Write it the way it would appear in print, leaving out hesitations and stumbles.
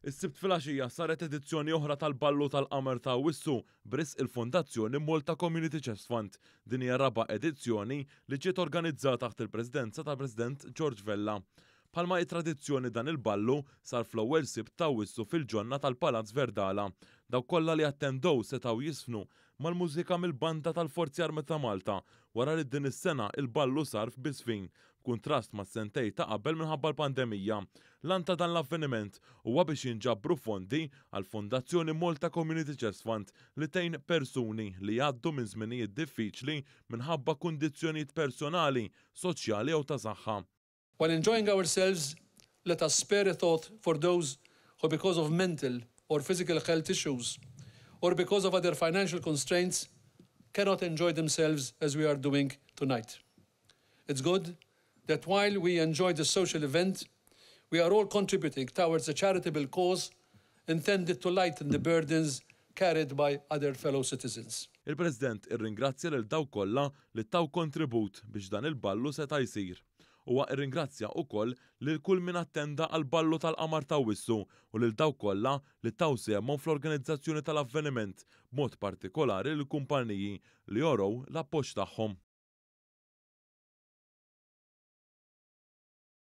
Is-Sibt filgħaxija saret edizzjoni oħra tal-Ballu tal-Qamar ta' Awwissu b'risq il-Fondazzjoni Malta Community Chest Fund. Din hija r-raba' edizzjoni li ġiet organizzata taħt il-Presidenza tal-President George Vella. Bħalma hi tradizzjoni dan il-ballu sar fl-ewwel Sibt ta' Awwissu fil-ġonna tal-Palazz Verdala. Dawk kollha li attendew setgħu jiżfnu mal-mużika mill-Banda tal-Forzi Armati ta' Malta wara li din is-sena il-ballu sar f'biżfin, b'kuntrast mas-sentejn ta' qabel minħabba l-pandemija. L-għan ta' dan l-avveniment huwa biex jinġabru fondi għall-Fondazzjoni Malta Community Chest Fund li tgħin persuni li jgħaddu minn żminijiet diffiċli minħabba kundizzjonijiet personali, soċjali jew ta' saħħa. While enjoying ourselves, let us spare a thought for those who because of mental or physical health issues or because of other financial constraints cannot enjoy themselves as we are doing tonight. It's good that while we enjoy the social event, we are all contributing towards a charitable cause intended to lighten the burdens carried by other fellow citizens. Il-President irringrazzja lil dawk kollha li taw kontribut biex dan il-ballu seta' jsir. Huwa irringrazzja wkoll lil kull min attenda għal ballu tal-Qamar ta' Awwissu u lil dawk kollha li taw sehemhom fl-organizzazzjoni tal-avveniment, b'mod partikolari lill-kumpaniji li urew l-appoġġ tagħhom.